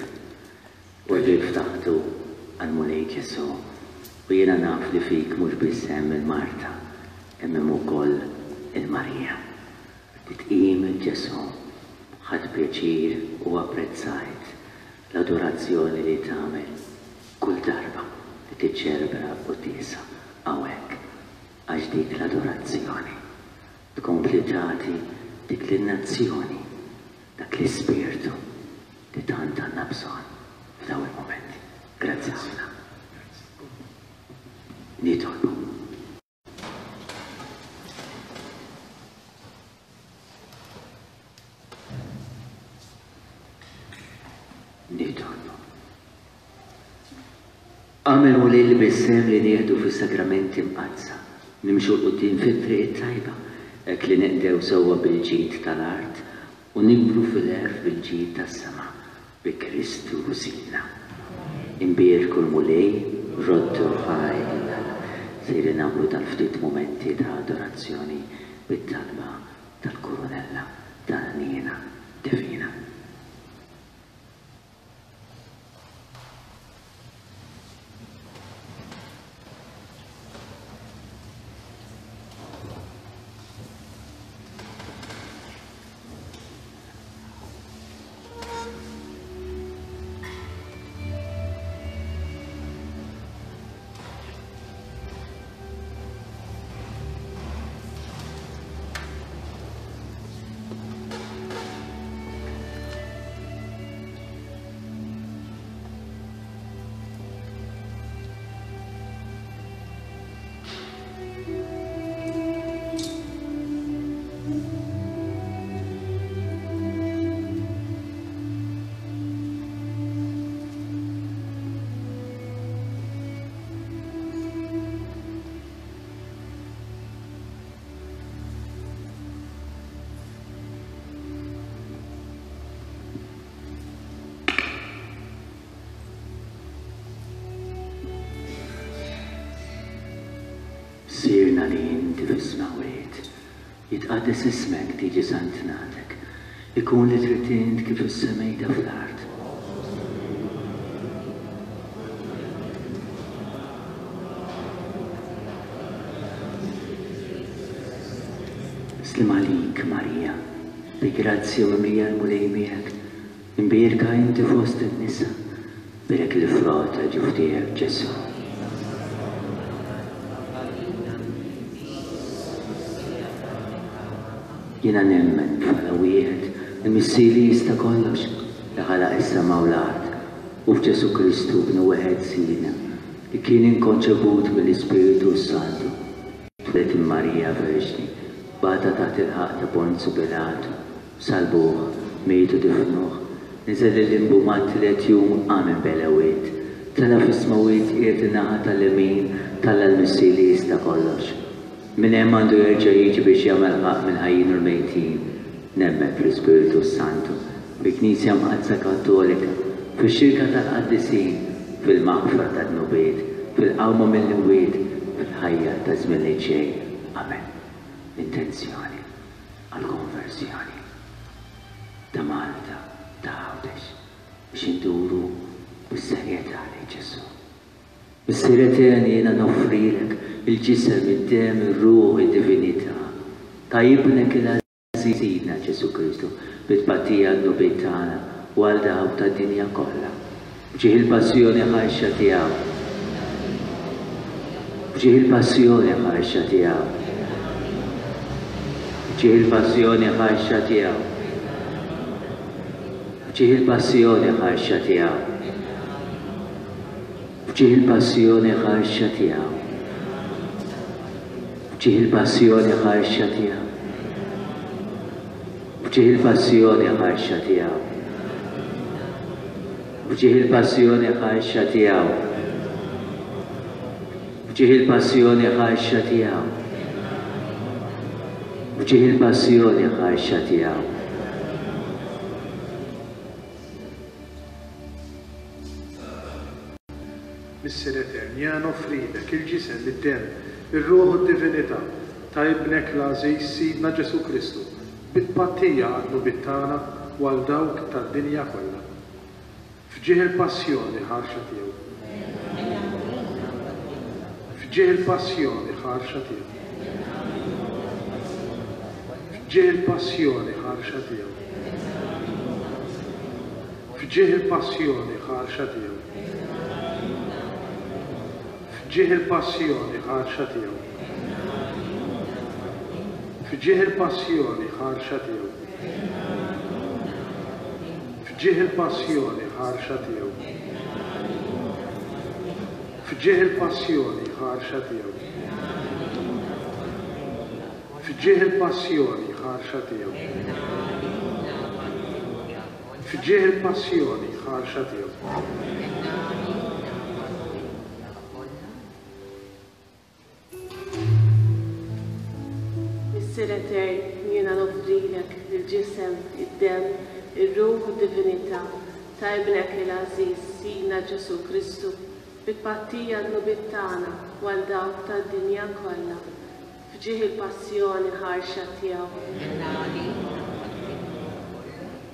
U l-bieb ftaħtu għall-Mulej Ġesù. U jiena naf li fik mhux biss hemm il-Marta, imma hemm ukoll il-Marija. Li tqim 'il Ġesù. Ħadt pjaċir u apprezzajt l-adorazzjoni li tagħmel kull darba li tiċċelebra l-quddiesa hawnhekk, għax dik l-adorazzjoni tkompli tagħti dik lin-nazzjoni dak l-ispirtu li tant għandna bżonn f'dawn il-mumenti. Grazzi ħafna. Nitolbu. Nitolbu. Agħmel Mulej li bis-sehem li nieħdu fis-sagramenti mqaddsa, nimxu 'l quddiem fit-triq it-tajba. Hekk li ninqdew sewwa bil-ġid tal-art u nikbru fil-għerf bil-ġid tas-sema, bi Kristu Sidna. Imbierku l-Mulej, roddu ħajr lil Alla. Sejrin nagħmlu dal-ftit mumenti ta' adorazzjoni bit-talba tal-Kurunella tal-Ħniena Divina. Missierna li inti fis-smewwiet, jitqaddes ismek, tiġi saltnatek, ikun li trid int kif fis-semejta fl-art. Sliem għalik, Marija, bi grazzja mimlija l-Mulej miegħek, imbierka inti fost in-nisa, bierek il-frott tal-ġuf tiegħek, Ġesù. Jiena nemmen f'Alla wieħed, il-Missier li jista' kollox, li ħalaq is-sema u l-art, u f'Ġesù Kristu, Ibnu wieħed Sidna, li kien inkonċebut mill-Ispirtu s-Santu, twieled minn Marija Verġni, bata taħt il-ħaqq ta' Ponzju Pilatu, salbuh, miet u difnuh, niżel lil-limbu mat-tielet jum qam minn bejn l-ewiet, tela' fis-smewwiet qiegħed in-naħa tal-lemin t'Alla l-Missier li jista' kollox. Minn hemm għandu jerġa' jiġi biex jagħmel ħaqq mill-ħajjin u l-mejtin. Nemmen fl-Ispirtu s-Santu, fil-Knisja Mqaddsa Kattolika, fix-xirka tal-qaddisin, fil-maħfra tad-dnubiet, fil-qawma mill-imwiet, fil-ħajja taż-żmien li ġej. Amen. Intenzjoni għall-konverżjoni ta' Malta, ta' Għawdex, biex induru bis-serjetà lejn Ġesù. Missier Etern jiena noffrilek il-ġisem, id-demm, ir-ruħ, id-divinità ta' Ibnek il-għażiż Sidna Ġesù Kristu bi tbatija għad-dnubiet tagħna u għal dawk tad-dinja kollha. B'ġieħ il-passjoni ħarxa tiegħu. B'ġieħ il-passjoni ħarxa tiegħu. B'ġieħ il-passjoni ħarxa tiegħu. B'ġieħ il-passjoni ħarxa tiegħu. F'ġieħ il-passjoni ħarxa tiegħu. F'ġieħ il-passjoni ħarxa tiegħu. F'ġieħ il-passjoni ħarxa tiegħu. F'ġieħ il-passjoni ħarxa tiegħu. F'ġieħ il-passjoni ħarxa tiegħu. F'ġieħ il-passjoni ħarxa tiegħu. Missier Etern, jiena noffrilek il-ġisem, id-demm, ir-ruħ u d-divinità ta' Ibnek l-għażiż Sidna Ġesù Kristu, bi tpattija għad-dnubiet tagħna u għal dawk tad-dinja kollha. F'ġieħ il-passjoni ħarxa tiegħu. F'ġieħ il-passjoni ħarxa tiegħu. F'ġieħ il-passjoni ħarxa tiegħu. F'ġieħ il-passjoni ħarxa tiegħu. F'ġieħ il-passjoni ħarxa tiegħu. F'ġieħ il-passjoni ħarxa tiegħu. F'ġieħ il-passjoni ħarxa tiegħu. F'ġieħ il-passjoni ħarxa tiegħu. F'ġieħ il-passjoni ħarxa tiegħu. F'ġieħ il-passjoni ħarxa tiegħu. Missier Etern, jiena noffrilek il-ġisem, id-demm, ir-ruħ u d-divinità ta' Ibnek il-għażiż, Sidna Ġesù Kristu, bi tpattija għad-dnubiet tagħna u għal dawk tad-dinja kollha, f'ġieħ il-passjoni ħarxa tiegħu.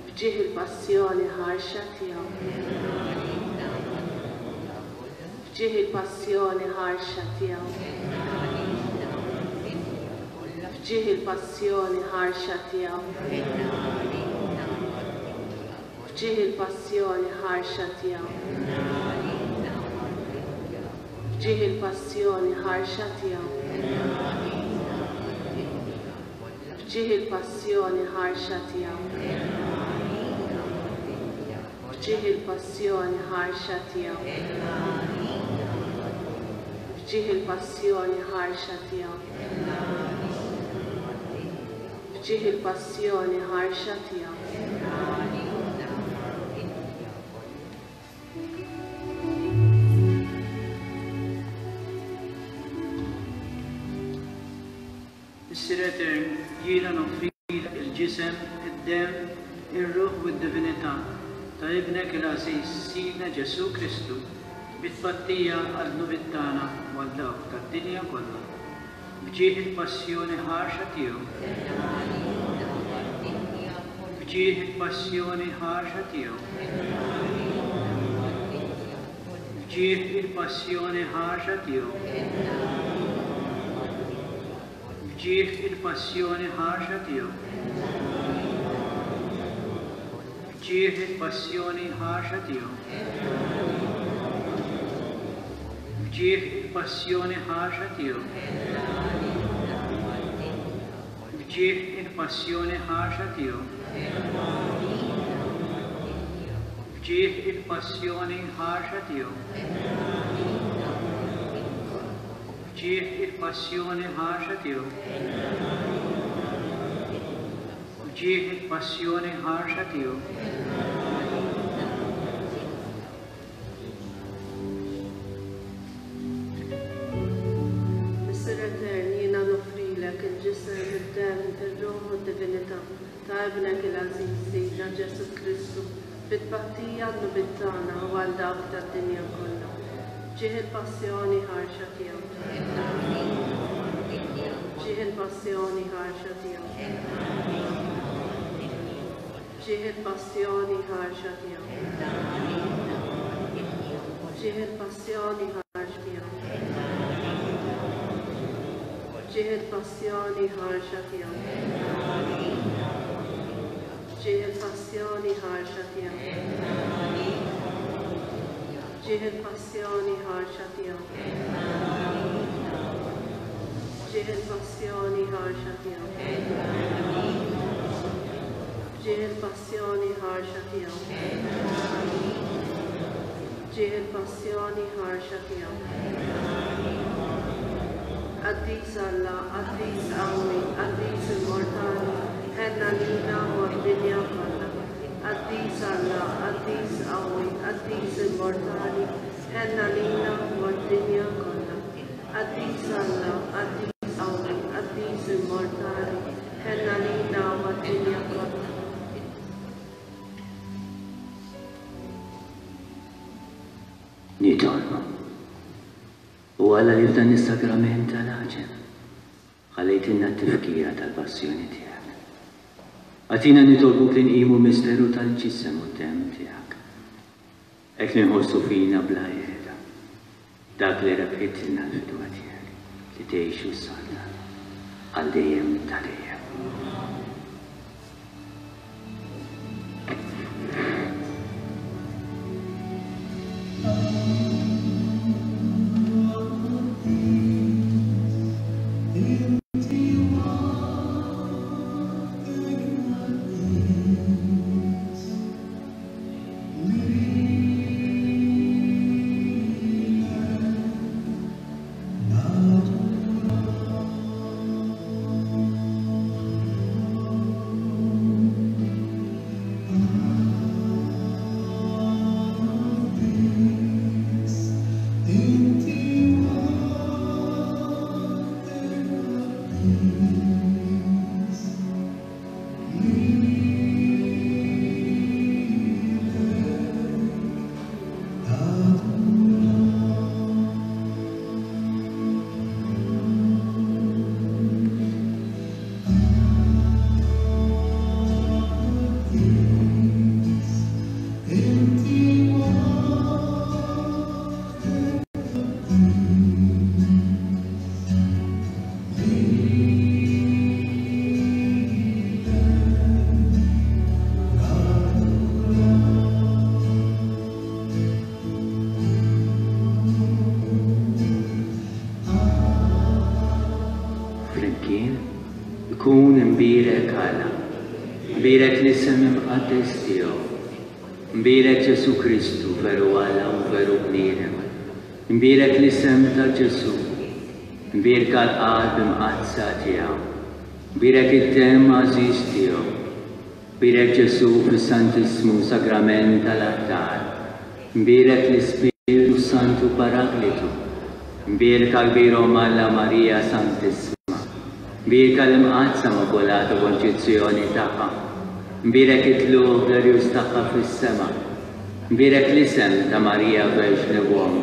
F'ġieħ il-passjoni ħarxa tiegħu. F'ġieħ il-passjoni ħarxa tiegħu. F'ġieħ il-passjoni ħarxa tiegħu. F'ġieħ il-passjoni ħarxa tiegħu. F'ġieħ il-passjoni ħarxa tiegħu. F'ġieħ il-passjoni ħarxa tiegħu. F'ġieħ il-passjoni ħarxa tiegħu. F'ġieħ il-passjoni ħarxa tiegħu. F'ġieħ il-passjoni ħarxa tiegħu. Missier Etern, jiena noffrilek il-ġisem, id-demm, ir-ruħ u d-divinità ta' Ibnek il-għażiż Sidna Ġesù Kristu, bi tpattija għad-dnubiet tagħna u għal dawk tad-dinja kollha. F'ġieħ il-passjoni ħarxa tiegħu. F'ġieħ il-passjoni ħarxa tiegħu. F'ġieħ il-passjoni ħarxa tiegħu. F'ġieħ il-passjoni ħarxa tiegħu. F'ġieħ il-passjoni ħarxa tiegħu. F'ġieħ il-passjoni ħarxa tiegħu. F'ġieħ il-passjoni ħarxa tiegħu. F'ġieħ il-passjoni ħarxa tiegħu. F'ġieħ il-passjoni ħarxa tiegħu. F'ġieħ il-passjoni ħarxa tiegħu. Missier Etern, jiena noffrilek il-ġisem, id-demm, ir-ruħ u d-divinità ta' Ibnek il-għażiż Sidna Ġesù Kristu, bi tpattija għad-dnubiet tagħna u għal dawk tad-dinja kollha. F'ġieħ il-passjoni ħarxa tiegħu. F'ġieħ il-passjoni ħarxa tiegħu. F'ġieħ il-passjoni ħarxa tiegħu. F'ġieħ il-passjoni ħarxa tiegħu. F'ġieħ il-passjoni ħarxa tiegħu. F'ġieħ il-passjoni ħarxa tiegħu. F'ġieħ il-passjoni ħarxa tiegħu. F'ġieħ il-passjoni ħarxa tiegħu. F'ġieħ il-passjoni ħarxa tiegħu. F'ġieħ il-passjoni ħarxa tiegħu. Qaddis Alla, qaddis qawwi, qaddis immortali, ħenna lilna u għad-dinja kollha. Qaddis Alla, qaddis qawwi, qaddis immortali, ħenna lilna u għad-dinja kollha. Qaddis Alla, qaddis qawwi, qaddis immortali, ħenna lilna u għad-dinja kollha. Nitolbu. O Alla li f'dan is-sagrament tal-għaġeb ħallejtilna t-tifkira tal-passjoni tiegħek. Agħtina nitolbuk li nqimu l-misteru tal-ġisem u d-demm tiegħek, hekk li nħossu fina bla qiegħda dak li rebħitilna l-fidwa tiegħek li tgħix u ssaltan għal dejjem ta' dejjem. Ikun imbierek Alla, imbierek l-isem imqaddes tiegħu. Imbierek Ġesù Kristu, veru Alla u veru bniedem. Imbierek l-isem ta' Ġesù. Imbierka l-Qalb Imqaddsa tiegħu. Imbierek id-demm għażiż tiegħu. Imbierek Ġesù fis-Santissmu Sagrament tal-Altar. Imbierek l-Ispirtu s-Santu Paraklitu. Imbierka l-Kbir Omm Alla Marija Santissima. Imbierka l-Imqaddsa Immakulata Konċizzjoni tagħha. Imbierek it-tlugħ glorjuż tagħha fis-sema. Imbierek l-isem ta' Marija Verġni u Omm.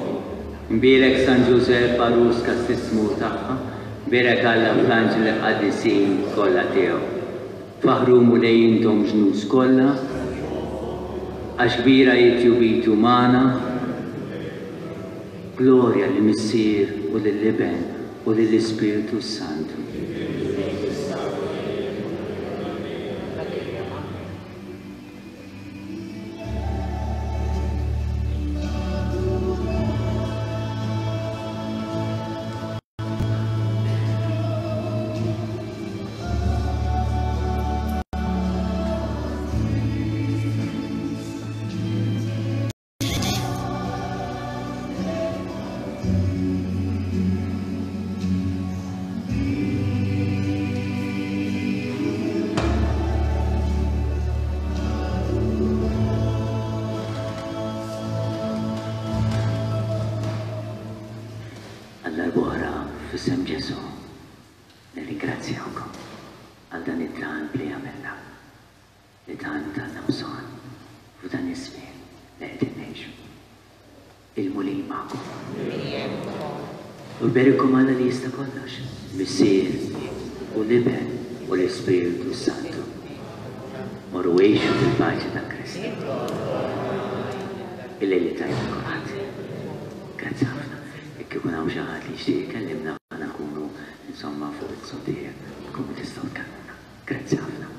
Imbierek San Ġużepp għarus kastissmu tagħha, Imbierek Alla fl-anġli qaddisin kollha tiegħu. Faħħru Mulej intom ġnus kollha, għax kbira hi tjubitu magħna. Glorja lill-Missier u lill-Iben u lill-Ispirtu s-Santu. Għal darb'oħra f'isem Ġesù nirringrazzjawkom għal dan it-talb li għamilna, li tant għandna bżonn f'dan iż-żmien li qegħdin ngħixu. Il-Mulej magħkom. U jberikkom Alla li jista' kollox, Missier u l-Iben u l-Ispirtu s-Santu. Morru għixu fil-paċi ta' Kristu. Il-lejl it-tajjeb lil kulħadd. Grazzi ħafna. Jekk ikun hawn xi ħadd li jixtieq ikellimna aħna nkunu insomma fuq iz-zuntier tkunu tistgħu tkellmuna. Grazzi ħafna.